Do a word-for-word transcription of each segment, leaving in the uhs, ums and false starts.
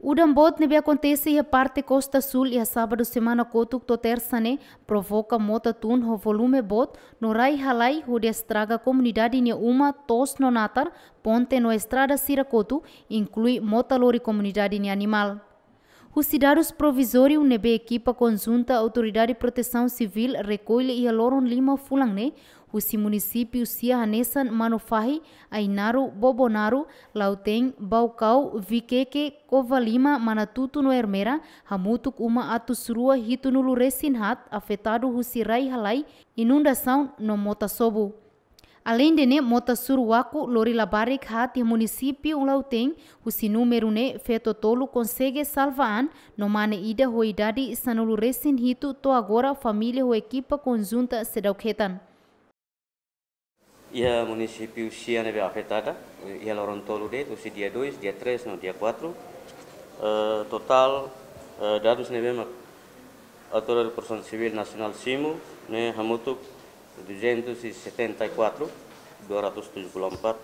Udan boot ne'ebé akontese iha parte kosta súl iha sábadu semana kotuk to'o tersa ne'e provoka mota tun ho volume boot no rai halai hodi estraga komunidade nia uma, to'os no natar, ponte no estrada sira kotu, inklui mota lori komunidade nia animál. Husi dadus provizóriu ne'ebé ekipa konjunta Autoridade Protesaun Sivíl rekolle iha loron lima fulan ne'e, husi munisípiu sia hanesan Manufahi, Ainaro, Bobonaro, Lautém, Baucau, Viqueque, Covalima, Manatuto no Ermera, hamutuk uma atus rua hitunulu resin haat afetadu husi rai halai, inundasaun no mota sobu. Aleinde ne'e, mota suru waku lori labarik haat iha munisípiu Lautém, husi númeru ne'e feto tolu konsege salva an, no mane ida ho idade sanulu resin hitu to'o agora família ho ekipa konjunta seidauk hetan. Iha munisípiu sia ne'ebé afetada, iha loron tolu de'it, husi dia dois, dia três no dia quatro. Eh, totál, eh, dadus ne'ebé mak Autoridade Protesaun Sivíl Nasionál simu ne'e hamutuk duzentos e setenta e quatro, dua ratus tujuh puluh empat,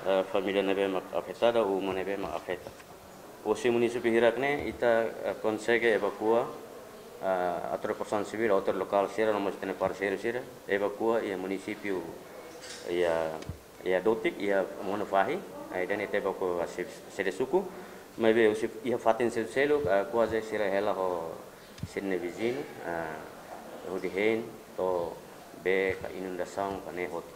eh, família ne'ebé mak afetada, uma ne'ebé mak afeta. Husi munisípiu hirak ne'e ita, eh, konsege evakua, eh, Autoridade Protesaun Sivíl, autoridade lokál sira, no mós ita-nia parseiru sira, evakua iha munisípiu, iha, iha Dotik, iha Manufahi, eh, ida-ne'e ita evakua sede, sede suku, maibé husi iha fatin seluk-seluk, eh, kuaze sira hela ho sira-nia viziñu, eh, hodi hein to'o bee ka inundasaun ka ne'e hotu.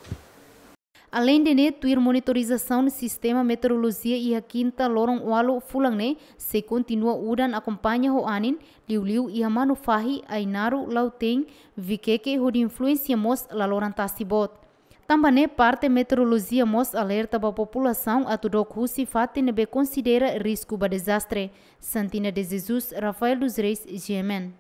Aleinde ne'e, tuir monitorizasaun Sistema Meteorolojia iha kinta loron ualu fulan ne'e, sei kontinua udan akompaña ho anin, liuliu iha Manufahi, Ainaro, Lautém, Viqueque, hodi influénsia mós laloran tasi boot. Tanba ne'e, parte meteorolojia mós alerta ba populasaun atu dook husi fatin ne'ebé konsidera risku ba dezastre. Santina de Jesus, Rafael dos Reis, G M N.